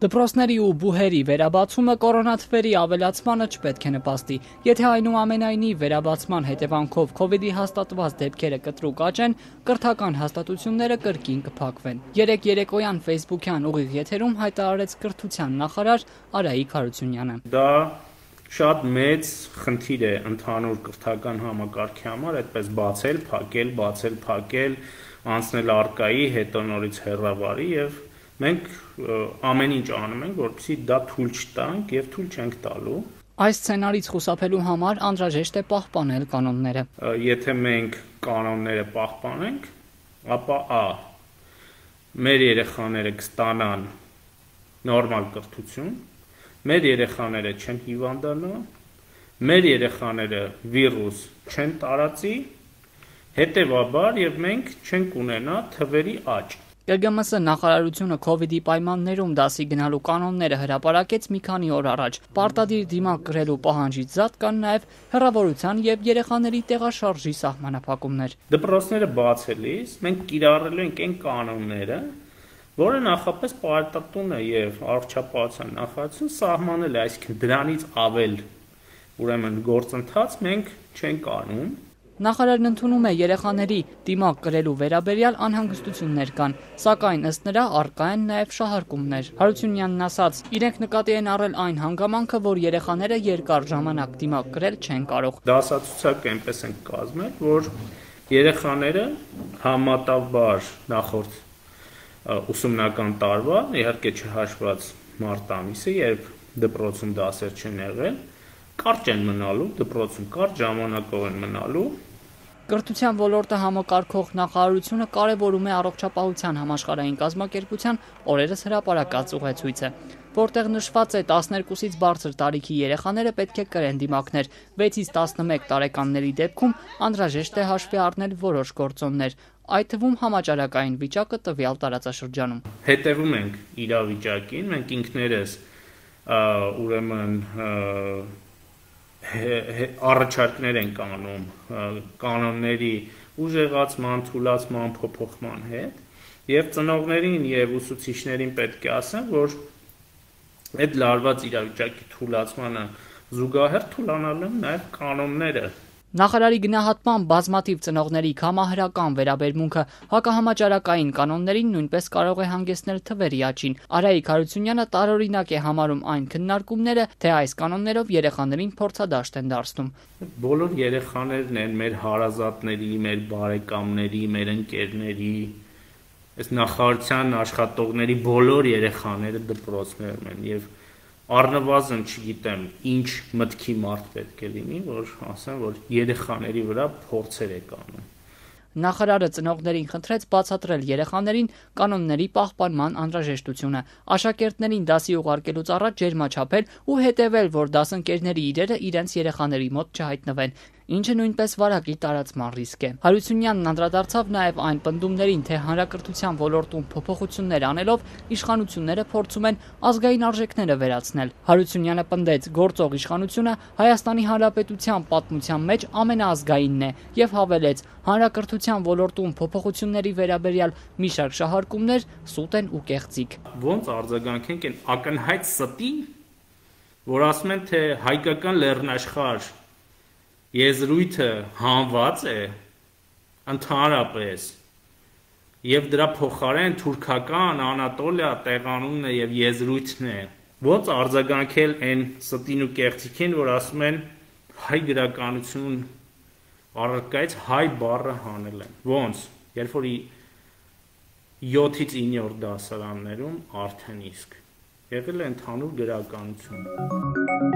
Դպրոցների ու բուհերի վերաբացումը կորոնաթվերի ավելացմանը չպետք է նպաստի։ Եթե այնուամենայնիվ վերաբացման հետևանքով Քովիդի հաստատված դեպքերը կտրուկ աճեն, կրթական հաստատությունները կրկին կփակվեն։ Երեկ երեկոյան ֆեյսբուքյան ուղիղ եթերում հայտարարեց կրթության նախարար Արայիկ Հարությունյանը։ Դա շատ մեծ խնդիր է ընդհանուր կրթական համակարգի համար, այդպես բացել, փակել, անցնել արկայի, հետո նորից հեռավարի եւ մենք ամեն ինչ անում ենք, որպեսզի դա թույլ չտանք եւ թույլ չենք տալու։ Այս սցենարից խուսափելու համար անհրաժեշտ է պահպանել կանոնները։ Եթե մենք կանոնները պահպանենք, ապա մեր երեխաները կստանան նորմալ կրթություն, մեր երեխաները չեն հիվանդանա, մեր երեխաները վիրուս չեն տարածի, հետևաբար եւ մենք չենք ունենա թվերի աճ։ ԿԳՄՍ նախարարությունը Քովիդի պայմաններում դասի գնալու կանոնները հրապարակեց մի քանի օր առաջ։ Պարտադիր դիմակ կրելու պահանջից զատ կան նաև հեռավորության եւ երեխաների տեղաշարժի սահմանափակումներ։ Դպրոցները բացելիս մենք կիրառելու ենք այն կանոնները, որը նախապես պարտատունը եւ առողջապահության նախարարությունը սահմանել է, այսինքն դրանից ավել ուրեմն գործընթաց մենք չենք անում։ Նախարարն ընդունում է երեխաների դիմակ կրելու վերաբերյալ անհանգստություններ կան, սակայն ըստ նրա առկա են նաև շահարկումներ։ Հարությունյանն ասաց, իրենք նկատի են առել այն հանգամանքը, որ երեխաները երկար ժամանակ դիմակ կրել չեն կարող։ Դասացուցակը այնպես են կազմել, որ երեխաները համատավար նախորդ ուսումնական տարվա, իհարկե չհաշված մարտ ամիսը, երբ դպրոցում դասեր չեն եղել, կարճ են մնալու, դպրոցում կարճ ժամանակով են մնալու։ Կրթության ոլորտը համակարգող նախարարությունը կարևորում է առողջապահության համաշխարհային կազմակերպության օրերս հրապարակած ուղեցույցը, որտեղ նշված է 12-ից բարձր տարիքի երեխաները պետք է կրեն դիմակներ, 6-ից 11 տարեկանների դեպքում անհրաժեշտ է հաշվի առնել որոշ գործոններ, այդ թվում համաճարակային վիճակը տվյալ տարածաշրջանում։ Հետևում ենք իրավիճակին, մենք ինքներս ուրեմն առաջարկներ ենք անում կանոնների ուժեղացման, թուլացման, փոփոխման հետ եւ ծնողներին եւ ուսուցիչներին պետք է ասեմ, որ այդ լարված իրավիճակի թուլացմանը զուգահեռ թուլանալու են նաեւ կանոնները։ Նախարարի գնահատման բազմաթիվ ծնողների կամահրական վերաբերմունքը հակահամաճարակային կանոններին նույնպես կարող է հանգեցնել թվերի աճին։ Արայիկ Հարությունյանը տարօրինակ է համարում այն քննարկումները, թե այս կանոններով երեխաներին փորձադաշտ են դարձնում։ Բոլոր երեխաներն են մեր հարազատների, մեր բարեկամների, մեր ընկերների, այս նախարարության աշխատողների բոլոր երեխաները դպրոցներում են եւ առնվազն չգիտեմ ինչ մտքի մարդ պետք է լինի, որ ասեմ, որ երեխաների վրա փորձեր է կանում։ Նախարարը ծնողներին խնդրեց բացատրել երեխաներին կանոնների պահպանման անհրաժեշտությունը, աշակերտներին դասի ուղարկելուց առաջ ջերմաչափել ու հետևել, որ դասընկերների իրերը իրենց երեխաների մոտ չհայտնվեն, ինչը նույնպես վարակի տարածման ռիսկ է։ Հարությունյանն անդրադարձավ նաև այն պնդումներին, թե հանրակրթության ոլորտում փոփոխություններ անելով իշխանությունները փորձում են ազգային արժեքները վերացնել։ Հարությունյանը պնդեց, գործող իշխանությունը Հայաստանի Հանրապետության պատմության մեջ ամենաազգայինն է եւ հավելեց, հանրակրթության ոլորտում փոփոխությունների վերաբերյալ մի շարք շահարկումներ սուտ են ու կեղծիք։ Ոնց արձագանքենք այն ակնհայտ ստին, որ ասում են, թե հայկական լեռնաշխարհ եզրույթը հանված է ընդհանրապես եւ դրա փոխարեն թուրքական Անատոլիա տեղանունն է եւ եզրույթն է։ Ոնց արձագանքել այն ստին ու կեղծիքին, որ ասում են հայ գրականություն առարկայից հայ բառը հանել են։ Ոնց, երբ որ 7-ից 9-րդ դասարաններում արդեն իսկ եղել է ընդհանուր գրականություն։